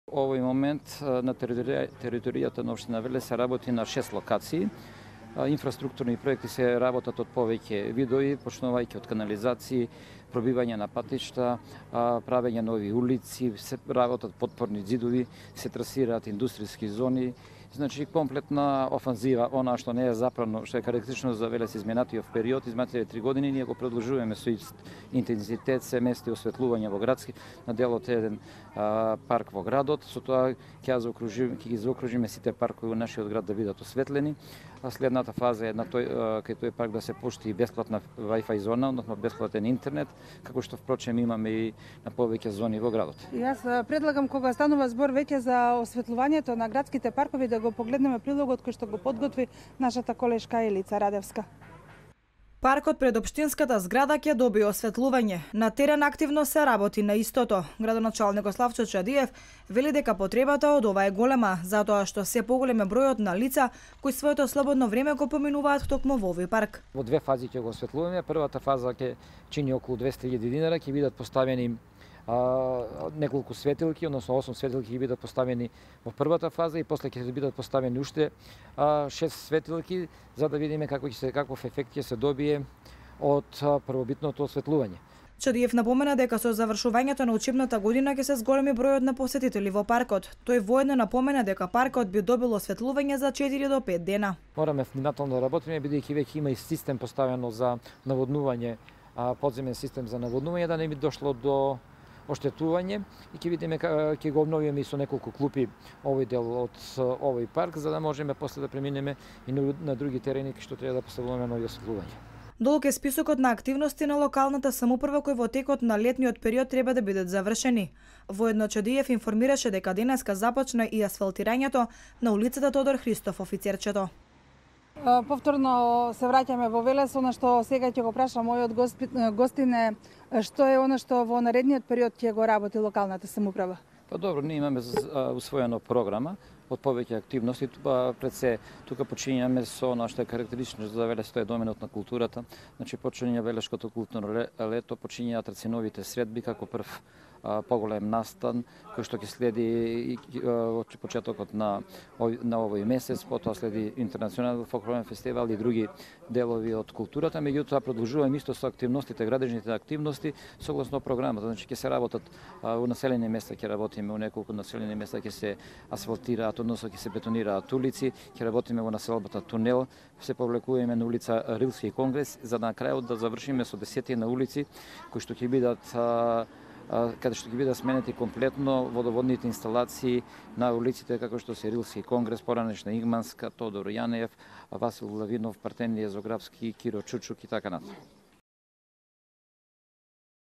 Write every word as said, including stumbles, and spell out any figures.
Овој момент на територија, територијата на општина Велес се работи на шест локации. Инфраструктурни проекти се работат од повеќе видови, почнувајќи од канализации, пробивање на патишта, правење нови улици, се работат потпорни ѕидови, се трасираат индустријски зони. Значи, комплетна офанзива, она што не е заправно, што е карактеристично за Велес изминатиот период, изминатите три години, ние го продолжуваме со ист интензитет, се мести осветлување во градски, на делот еден а, парк во градот, со тоа ќе заокружиме, ќе ги заокружиме сите паркови во нашиот град да бидат осветлени. А следната фаза е на тој кај тој парк да се пушти бесплатна Wi-Fi зона, односно бесплатен интернет, како што впрочем имаме и на повеќе зони во градот. И јас предлагам кога станува збор веќе за осветлувањето на градските паркови да го погледнеме прилогот кој што го подготви нашата колешка Елица Радевска. Паркот пред општинската зграда ќе добие осветлување. На терен активно се работи на истото. Градоначалникот Славчо Чадиев вели дека потребата од ова е голема, затоа што се поголем е бројот на лица кои своето слободно време го поминуваат токму во овој парк. Во две фази ќе го осветлуваме. Првата фаза ќе чини околу двесте илјади динари, ќе бидат поставени А, неколку светилки, односно осум светилки ќе бидат поставени во првата фаза и после ќе бидат поставени уште а, шест светилки за да видиме како ќе се каков ефект ќе се добие од а, првобитното осветлување. Чадиев напомена дека со завршувањето на учебната година ќе се зголеми бројот на посетители во паркот. Тој воедно напомена дека паркот би добил осветлување за четири до пет дена. Мораме внимателно да работиме бидејќи веќе има и систем поставено за наводнување, а, подземен систем за наводнување, да не би дошло до оштетување и ќе видиме ќе го обновиме и со неколку клупи овој дел од овој парк за да можеме после да преминеме и на други терени што треба да поставуваме нови осветлувања. Долг е списокот на активности на локалната самоуправа кои во текот на летниот период треба да бидат завршени. Воедно Чадиев информираше дека денеска започна и асфалтирањето на улицата Тодор Христов Офицерчето. Повторно се враќаме во Велес, она што сега ќе го прашам мојот гостин е што е она што во наредниот период ќе го работи локалната самоуправа? Па добро, ние имаме усвоена програма од повеќе активности. Пред се, тука почињаме со она што е карактеристично за Велес, тоа е доменот на културата. Значи, почиња Велешкото културно лето, почињаат рациновите средби како прв поголем настан, кој што ќе следи од почетокот на, на овој месец, потоа следи интернационален фолклорен фестивал и други делови од културата, меѓутоа продолжуваме исто со активностите, градежните активности согласно програмата. Значи ќе се работат во населени места, ќе работиме во неколку населени места, ќе се асфалтираат, односно ќе се бетонираат улици, ќе работиме во населбата Тунел, се повлекуваме на улица Рилски конгрес, за да на крајот да завршиме со десетина улици кои што ќе бидат каде што ќе бидат сменети комплетно водоводните инсталации на улиците како што се Рилски конгрес, поранешна Игманска, Тодор Јанев, Васил Лавинов, Партенија Зографски, Киро Чучук и така натаму.